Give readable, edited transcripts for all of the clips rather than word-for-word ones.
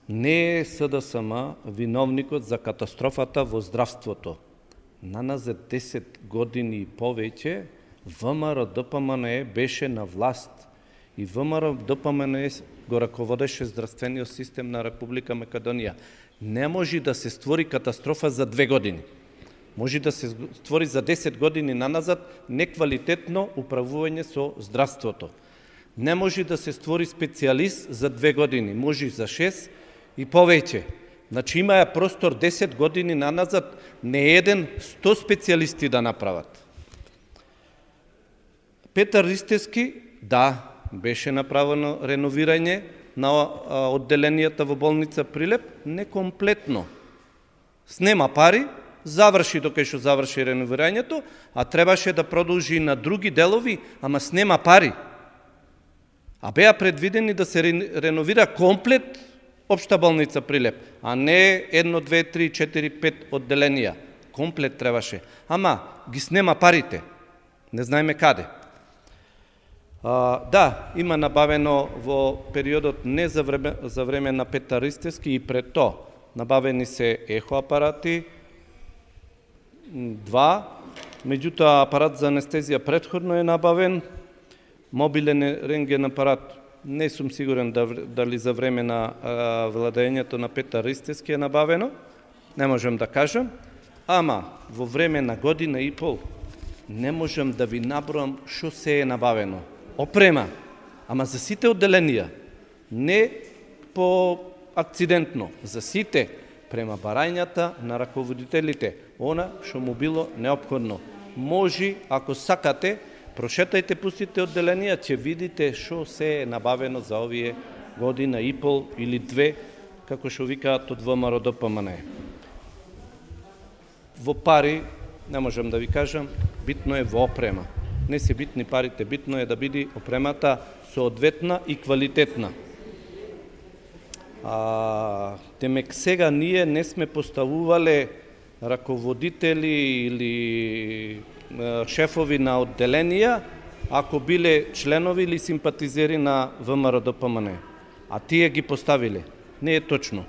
Не е СДСМ виновникот за катастрофата во здравството. Наназад 10 години и повеќе ВМРО-ДПМНЕ беше на власт и ВМРО-ДПМНЕ го раководеше здравствениот систем на Република Македонија. Не може да се створи катастрофа за 2 години. Може да се створи за 10 години наназад неквалитетно управување со здравството. Не може да се створи специјалист за 2 години, може за 6 и повеќе. Значи има простор 10 години наназад, не еден 100 специјалисти да направат. Петар Ристевски, да, беше направено реновирање на одделенијата во болница Прилеп, некомплетно. Снема пари, заврши докај што заврши реновирањето, а требаше да продолжи на други делови, ама снема пари. А беа предвидени да се реновира комплет Општа болница Прилеп, а не 1, 2, 3, 4, 5 одделенија. Комплет требаше. Ама ги снема парите. Не знаеме каде. Да, има набавено во периодот не за време на Петар Ристевски и пред то. Набавени се ехоапарати, 2, меѓутоа апарат за анестезија претходно е набавен, мобилен рентген апарат, не сум сигурен дали за време на владењето на Петар Ристевски е набавено, не можем да кажам, ама во време на година и пол не можам да ви наброам што се е набавено. Опрема, ама за сите одделенија, не по акцидентно, за сите, према барањата на раководителите, она што му било неопходно. Може, ако сакате, прошетајте, пустите одделенија, ќе видите што се е набавено за овие година и пол или 2, како што викаат од ВМРО-ДПМНЕ. Во пари, не можам да ви кажам, битно е во опрема. Не се битни парите, битно е да биде опремата соодветна и квалитетна. Темек сега ние не сме поставувале раководители или шефови на одделенија, ако биле членови или симпатизери на ВМРО-ДПМНЕ. А тие ги поставиле. Не е точно.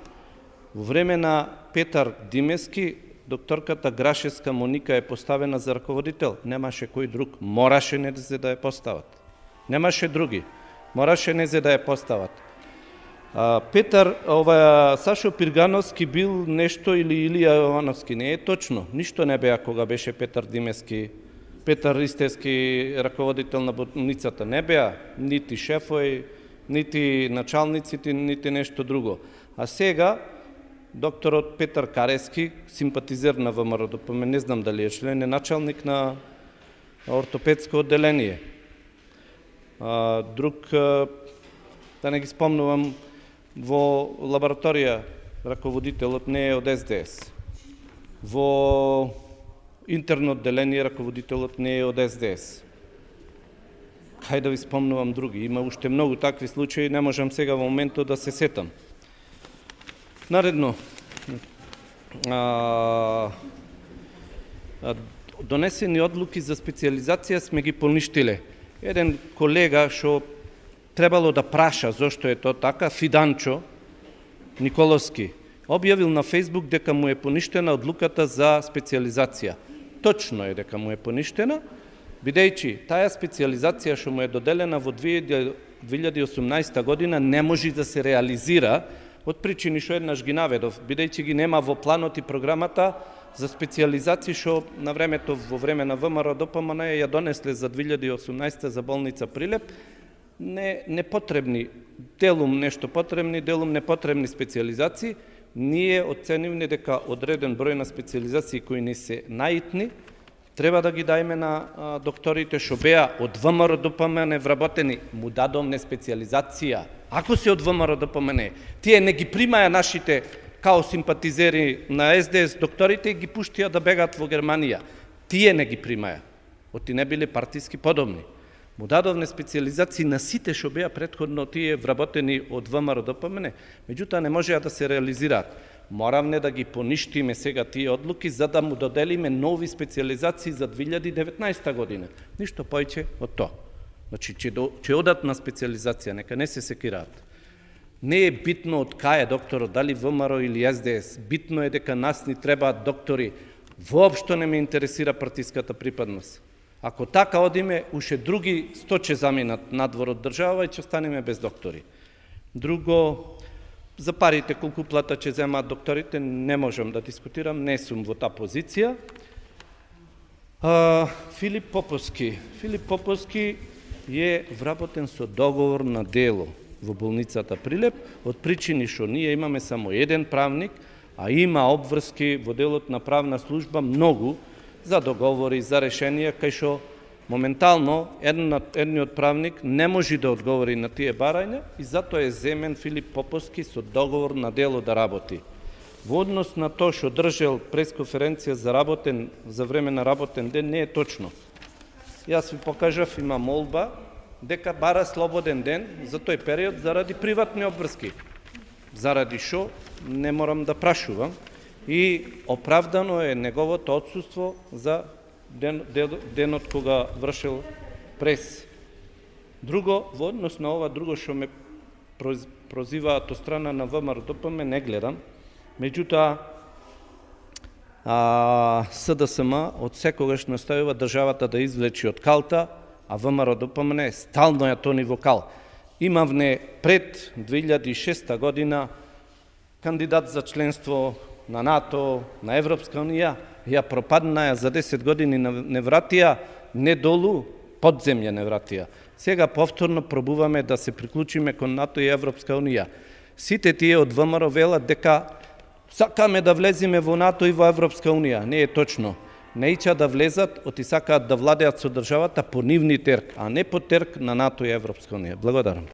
Во време на Петар Димески, докторката Грашевска Моника е поставена за раководител. Немаше кој друг. Мораше не за да ја постават. Немаше други. Мораше не за да ја постават. Сашо Пиргановски бил нешто или Илија Јовановски. Не е точно. Ништо не беа кога беше Петар Димески, Петар Ристевски раководител на болницата. Не беа нити шефови, нити началниците, нити нешто друго. А сега докторот Петар Карески, симпатизер на ВМРО-ДПМНЕ, не знам дали е член, е началник на ортопедско одделение. Друг, да не ги спомнувам, во лабораторија раководителот не е од СДС. Во интерно одделение раководителот не е од СДС. Хајде да ви спомнувам други. Има уште многу такви случаи, не можам сега во моментот да се сетам. Наредно, донесени одлуки за специализација сме ги поништиле. Еден колега што требало да праша зошто е тоа така, Фиданчо Николовски, објавил на Фейсбук дека му е поништена одлуката за специализација. Точно е дека му е поништена, бидејќи таа специализација што му е доделена во 2018 година не може да се реализира од причини што еднаш ги наведов, бидејќи ги нема во планот и програмата за специализација што на времето во време на ВМРО-ДПМНЕ ја донесле за 2018 за болница Прилеп, непотребни, делум нешто потребни, делум непотребни специализации. Ние оценивме дека одреден број на специализации кои не се наитни, треба да ги дајме на докторите што беа од ВМРО-ДПМНЕ вработени, му дадовме специализација. Ако се од ВМРО-ДПМНЕ, тие не ги примаја нашите као симпатизери на СДС докторите и ги пуштија да бегаат во Германија. Тие не ги примаја. Оти не биле партиски подобни. Му дадовне специализации на сите што беа претходно тие вработени од ВМРО-ДПМНЕ, меѓутоа не можеа да се реализираат. Моравме да ги поништиме сега тие одлуки за да му доделиме нови специализации за 2019 година. Ништо поиќе од тоа. Значи, ќе одат на специализација, нека не се секираат. Не е битно од кај е докторот, дали ВМРО или СДС. Битно е дека нас ни требаат доктори. Воопшто не ме интересира партиската припадност. Ако така одиме, уште други 100 ќе заминат надвор од држава и ќе останеме без доктори. Друго, за парите колку плата ќе земаат докторите, не можам да дискутирам, не сум во таа позиција. Филип Поповски. Филип Поповски е вработен со договор на дело во болницата Прилеп, од причини што ние имаме само еден правник, а има обврски во делот на правна служба многу за договори, за решенија, кај што моментално едниот правник не може да одговори на тие барања и затоа е земен Филип Поповски со договор на дело да работи. Во однос на тоа што држел пресконференција за време на работен ден, не е точно. Јас ви покажав, има молба дека бара слободен ден за тој период заради приватни обврски. Заради што не морам да прашувам и оправдано е неговото отсуство за денот кога вршил прес. Друго, во однос на ова друго што ме прозиваат од страна на ВМРО-ДПМ, не гледам. Меѓутоа, СДСМ од секогаш наставува државата да извлечи од калта, а ВМРО-ДПМ стално ја тони во кал. Имавне пред 2006 година кандидат за членство на НАТО, на Европска унија, ја пропаднаја за 10 години не вратија, не долу, подземја не вратија. Сега повторно пробуваме да се приклучиме кон НАТО и Европска унија. Сите тие од ВМРО велат дека сакаме да влеземе во НАТО и во Европска унија. Не е точно. Не ича да влезат, оти сакаат да владеат со државата по нивни терк, а не по терк на НАТО и Европска унија. Благодарам.